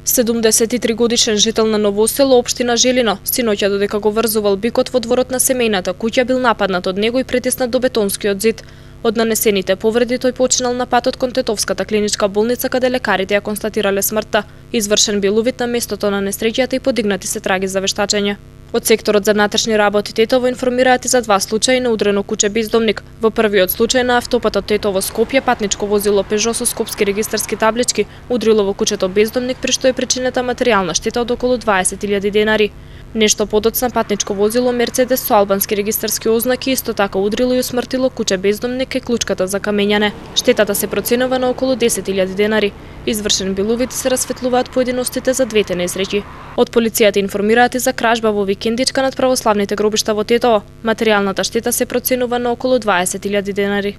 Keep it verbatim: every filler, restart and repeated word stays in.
седумдесет и три годишен жител на Ново село, општина Желино, синоќа додека го врзувал бикот во дворот на семејната куќа бил нападнат од него и притиснат до бетонскиот зид. Од нанесените повреди тој починал на патот кон Тетовската клиничка болница каде лекарите ја констатирале смртта. Извршен бил увид на местото на несреќата и подигнати се траги за вештачење. Од секторот за внатрешни работи Тетово информираат и за два случаи на удрено куче бездомник. Во првиот случај на автопатот Тетово Скопје патничко возило Пежо со скопски регистарски таблички удрило во кучето бездомник, при што е причинета материјална штета од околу дваесет илјади денари. Нешто подоцна патничко возило Мерцедес со албански регистарски ознаки исто така удрило и усмртило куче бездомник кај клучката за камењане. Штетата се проценува на околу десет илјади денари. Извршен бил увид и се расветлуваат поединостите за двете несреќи. Од полицијата информираат и за кражба во викендичка над православните гробишта во Тетово. Материјалната штета се проценува на околу дваесет илјади денари.